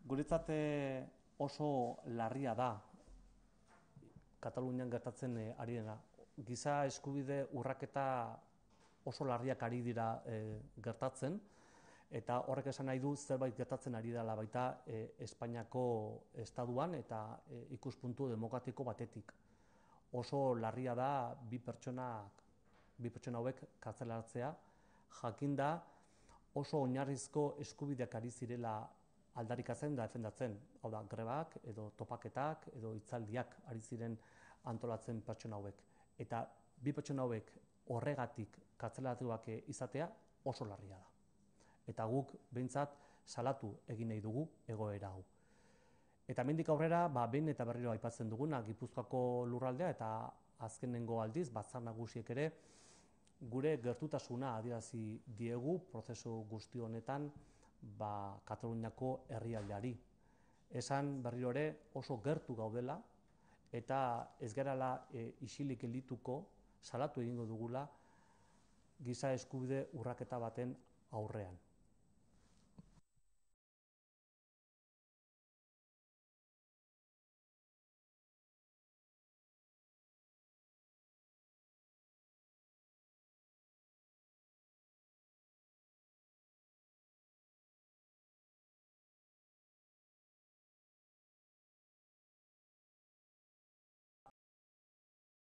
Guretzat oso larria da Katalunian gertatzen ari dena. Giza eskubide urraketa oso larriak ari dira gertatzen, eta horrek esan nahi du zerbait gertatzen ari dela baita Espainiako estatuan eta ikuspuntu demokratiko batetik. Oso larria da bi pertsona hauek kartzelatzea, jakinda oso oinarrizko eskubideak ari zirela aldarrikatzen da defendatzen, hau da, grebak edo topaketak edo hitzaldiak ari ziren antolatzen pertsona hauek. Eta bi pertsona hauek horregatik kartzelatuak izatea oso larria da. Eta guk behintzat salatu egin nahi dugu egoera hau. Eta hemendik aurrera, behin eta berriro aipatzen duguna Gipuzkoako lurraldea eta azkenengo aldiz Batzar Nagusiek ere gure gertutasuna adierazi diegu prozesu guzti honetan Kataluniako herrialdeari. Esan berriro ere oso gertu gaudela eta ez garela isilik geldituko, salatu egingo dugula giza eskubide urraketa baten aurrean.